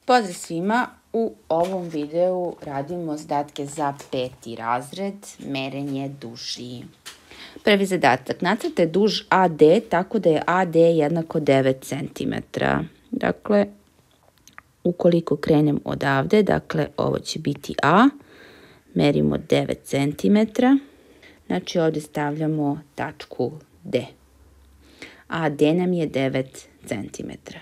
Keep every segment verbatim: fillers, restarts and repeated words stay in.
Pozdrav svima! U ovom videu radimo zadatke za peti razred, merenje duži. Prvi zadatak, nacrtaj duž A D tako da je A D jednako devet centimetara. Dakle, ukoliko krenem odavde, dakle ovo će biti A, merimo devet centimetara, znači ovdje stavljamo tačku D. A D nam je devet centimetara.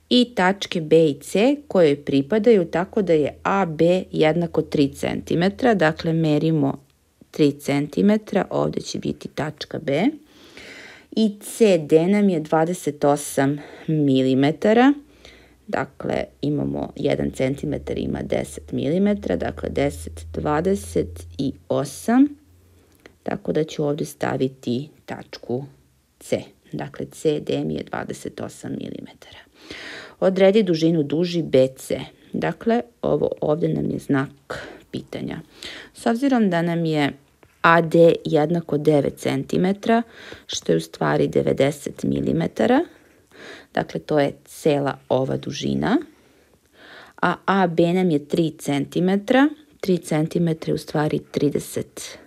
I tačke B i C koje pripadaju tako da je A B jednako tri centimetra, dakle merimo tri centimetra, ovdje će biti tačka B. I C D nam je dvadeset osam milimetara, dakle imamo jedan centimetar ima deset milimetara, dakle deset, dvadeset osam, tako da ću ovdje staviti tačku C. Dakle, C D mi je dvadeset osam milimetara. Odredi dužinu duži B C. Dakle, ovo ovdje nam je znak pitanja. S obzirom da nam je A D jednako devet centimetara, što je u stvari devedeset milimetara, dakle to je cela ova dužina, a A B nam je tri centimetra, tri centimetra je u stvari trideset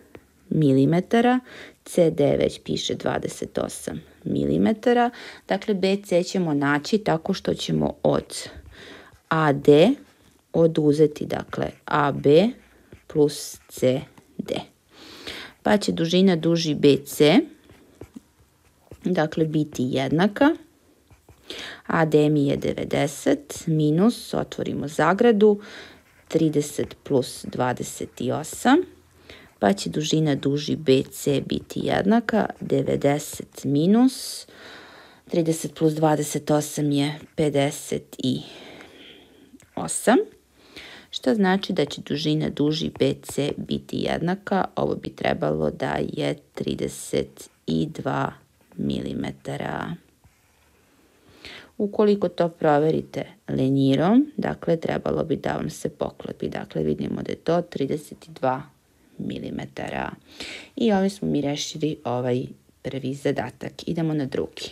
milimetara, C D već piše dvadeset osam milimetara, dakle B C ćemo naći tako što ćemo od A D oduzeti dakle A B plus C D. Pa će dužina duži B C dakle biti jednaka, A D mi je devedeset minus, otvorimo zagradu, trideset plus dvadeset osam, pa će dužina duži B C biti jednaka, devedeset minus, trideset plus dvadeset osam je pedeset osam, što znači da će dužina duži B C biti jednaka, ovo bi trebalo da je trideset dva milimetara. Ukoliko to proverite lenjirom, dakle trebalo bi da vam se poklopi, dakle vidimo da je to trideset dva milimetara. I ovim smo mi rešili ovaj prvi zadatak. Idemo na drugi.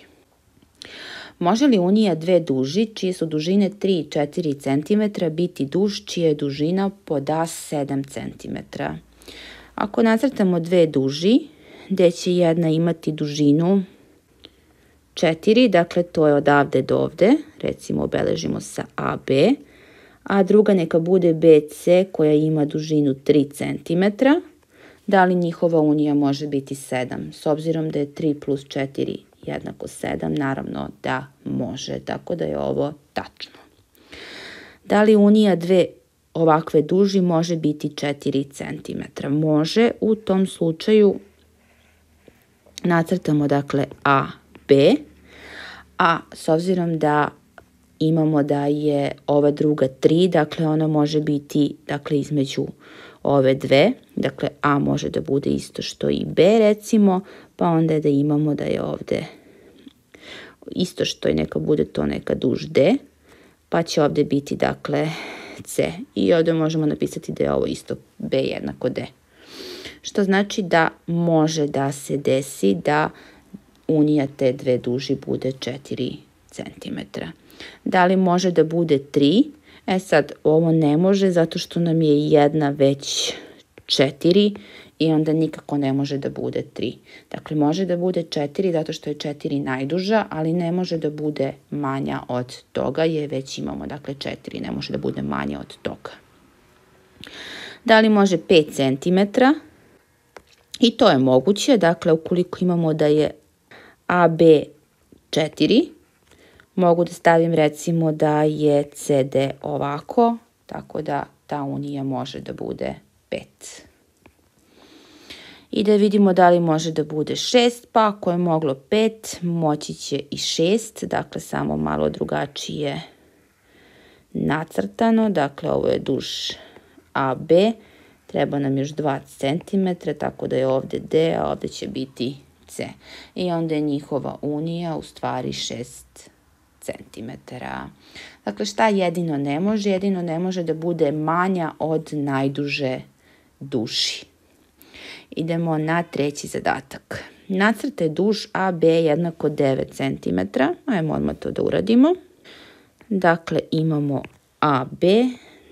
Može li unija dve duži, čije su dužine tri i četiri centimetra, biti duž čija je dužina pod A sedam centimetara? Ako nacrtamo dve duži, gdje će jedna imati dužinu četiri, dakle to je odavde do ovde, recimo obeležimo sa A B, a druga neka bude B C koja ima dužinu tri centimetra, da li njihova unija može biti sedam? S obzirom da je tri plus četiri jednako sedam, naravno da može, tako da je ovo tačno. Da li unija dve ovakve duži može biti četiri centimetra? Može, u tom slučaju nacrtamo dakle A B, a s obzirom da imamo da je ova druga tri, dakle ona može biti dakle između ove dve, dakle A može da bude isto što i B recimo, pa onda da imamo da je ovde isto što i neka bude to neka duž D, pa će ovde biti dakle C. I ovde možemo napisati da je ovo isto B jednako D. Što znači da može da se desi da unija te dve duži bude četiri centimetra. Da li može da bude tri? E sad, ovo ne može zato što nam je jedna već četiri i onda nikako ne može da bude tri. Dakle, može da bude četiri zato što je četiri najduža, ali ne može da bude manja od toga jer već imamo dakle četiri, ne može da bude manja od toga. Da li može pet centimetara? I to je moguće, dakle ukoliko imamo da je A B četiri, mogu da stavim recimo da je C D ovako, tako da ta unija može da bude pet. I da vidimo da li može da bude šest, pa ako je moglo pet, moći će i šest, dakle samo malo drugačije nacrtano, dakle ovo je duž A B, treba nam još dva centimetra, tako da je ovdje D, a ovdje će biti C. I onda je njihova unija u stvari šest centimetara. Dakle, šta jedino ne može? Jedino ne može da bude manja od najduže duži. Idemo na treći zadatak. Nacrtaj duž A B jednako devet centimetara. Ajmo odmah to da uradimo. Dakle, imamo A B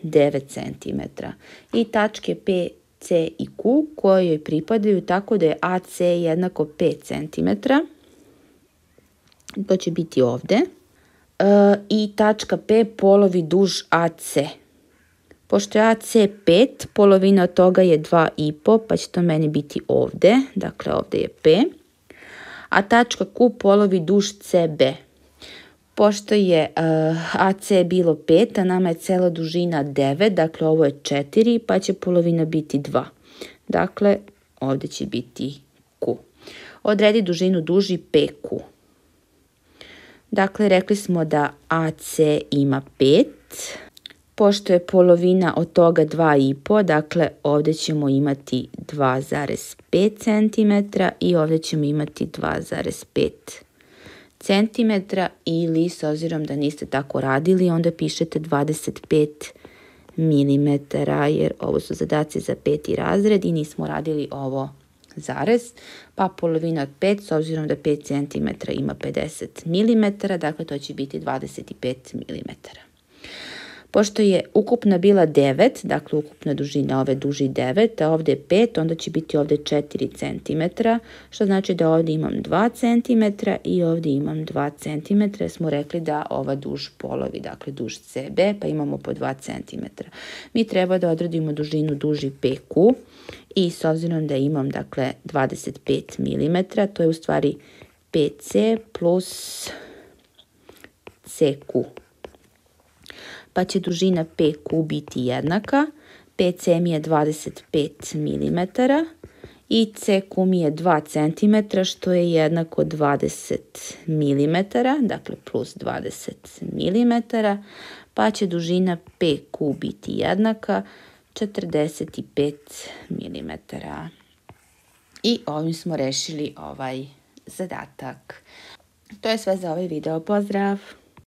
devet centimetara i tačke P, C i Q koje joj pripadaju tako da je A C jednako pet centimetara. To će biti ovde. E, I tačka P polovi duž A C. Pošto je A C pet, polovina od toga je dva i po, pa će to meni biti ovde. Dakle, ovde je P. A tačka Q polovi duž C B. Pošto je uh, A C bilo pet, a nama je cela dužina devet, dakle ovo je četiri, pa će polovina biti dva. Dakle, ovde će biti Q. Odredi dužinu duži P Q. Dakle, rekli smo da A C ima pet. Pošto je polovina od toga dva i po, dakle ovde ćemo imati dva zarez pet centimetara i ovde ćemo imati dva zarez pet centimetara ili, s obzirom da niste tako radili, onda pišete dvadeset pet milimetara, jer ovo su zadaci za peti razred i nismo radili ovo zarez, pa polovina od pet, s obzirom da pet centimetara ima pedeset milimetara, dakle to će biti dvadeset pet milimetara. Pošto je ukupna bila devet, dakle ukupna dužina ove duži devet, a ovde je pet, onda će biti ovde četiri centimetra, što znači da ovde imam dva centimetra i ovde imam dva centimetra. Smo rekli da ova duž polovi, dakle duž C B, pa imamo po dva centimetra. Mi treba da odredimo dužinu duži P Q i s obzirom da imam, dakle, dvadeset pet milimetara, to je u stvari P C plus C Q. Pa će dužina P Q biti jednaka, P C mi je dvadeset pet milimetara i C Q mi je dva centimetra, što je jednako dvadeset milimetara, dakle plus dvadeset milimetara, pa će dužina P Q biti jednaka četrdeset pet milimetara. I ovim smo rešili ovaj zadatak. To je sve za ovaj video. Pozdrav!